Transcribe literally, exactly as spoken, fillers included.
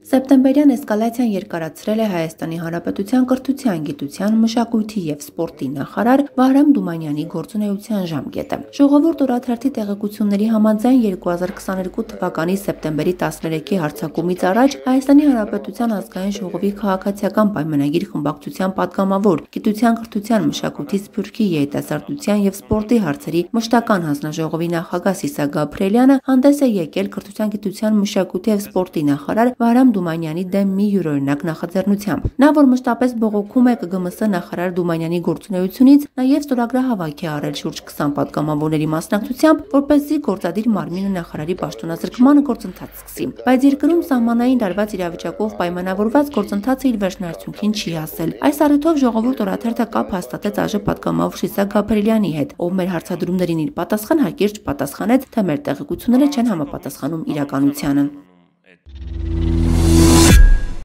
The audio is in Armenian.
Սեպտեմբերյան էսկալացիան երկարացրել է Հայաստանի Հանրապետության կրթության, գիտության, մշակույթի և սպորտի նախարար Վահրամ Դումանյանի գործունեության ժամկետը։ Ժողովուրդ օրաթերթի տեղեկությունների համաձայն երկու հազար քսաներկու թվականի սեպտեմբերի տասներեքի հռչակումից առաջ Հայաստանի Հանրապետության ազգային ժողովի քաղաքացիական պայմանագիր խմբակցության պատգամավոր, գիտության, կրթության, մշակույթի, սփյուռքի, երիտասարդության և սպորտի հարցերի մշտական հանձնաժողովի նախագահ Սիսակ Գաբրիելյանը հանդես է եկել կրթության, գիտության, մշակույթի և սպորտի նախարար Վահրամ Դումանյանի դեմ մի յուրօրինակ նախաձեռնությամբ։ Նա, որ մշտապես բողոքում է ԿԳՄՍ նախարար Դումանյանի գործունեությունից, նաև ստորագրահավաք է արել շուրջ քսան պատգամավորների մասնակցությամբ, որպեսզի գործադիր մարմինը նախարարի պաշտոնազրկման գործընթաց սկսի։ Բայց երկրում սահմանային լարված իրավիճակով պայմանավորված գործընթացը իր վերջնարդյունքին չի հասել։ Այս առիթով Ժողովուրդ օրաթերթը կապ հաստատեց ԱԺ պատգամավոր Սիսակ Գաբրիելյանի հետ, ով մեր հարցադրումներին իր պատասխան հակիրճ պատասխանեց, թե մեր տեղեկությունները չեն համապատասխանում իրականությանը։